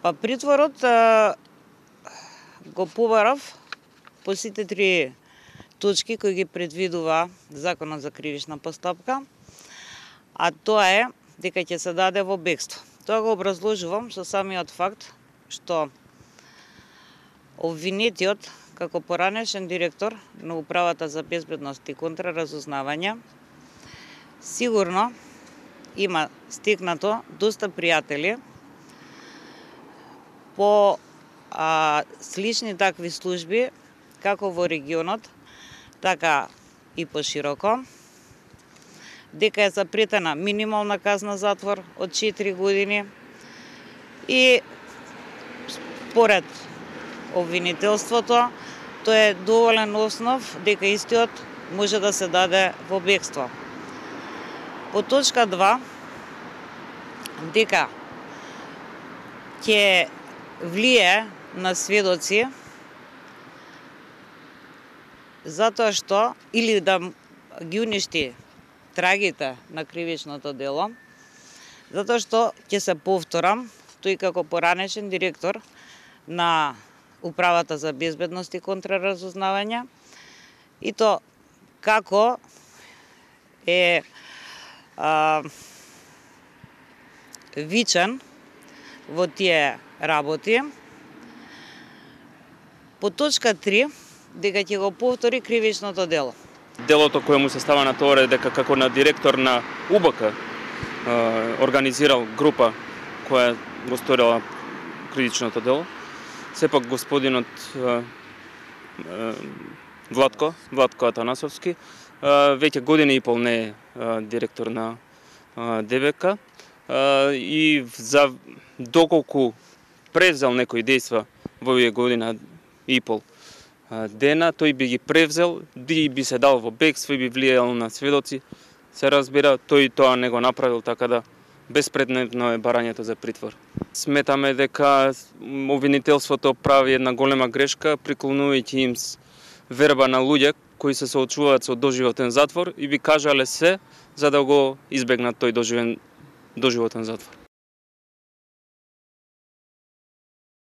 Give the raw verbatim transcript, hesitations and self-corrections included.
Па притворот а, го побарав по сите три точки кои ги предвидува Законот за кривична постапка, а тоа е дека ќе се даде во бегство. Тоа го образложувам со самиот факт што обвинетиот како поранешен директор на Управата за безбедност и контраразузнавање сигурно има стекнато доста пријатели по а, слични такви служби како во регионот, така и пошироко, дека е запретена минимална казна затвор од четири години и според обвинителството тоа е доволен основ дека истиот може да се даде во бегство. По точка два, дека ќе влие на сведоци затоа што или да ги уништи трагите на кривичното дело, затоа што ќе се повторам, тој како поранешен директор на Управата за безбедност и контраразузнавање, и то како е а, вичен во тие работи. По точка три, дека ќе го повтори кривичното дело. Делото кое му се става на тоа е дека како на директор на У Б К организирал група која го сторила кривичното дело. Сепак господинот Владко, Владко Атанасовски, веќе година и пол не е директор на Д Б К и за доколку превзел некои дејства во овие година и пол дена, тој би ги превзел, би, би се дал во бегство и би влијал на сведоци. Се разбира, тој тоа не го направил, така да безпредметно е барањето за притвор. Сметаме дека обвинителството прави една голема грешка, приклонувајќи им верба на луѓе кои се соочуваат со доживотен затвор и би кажале се за да го избегнат тој доживен, доживотен затвор.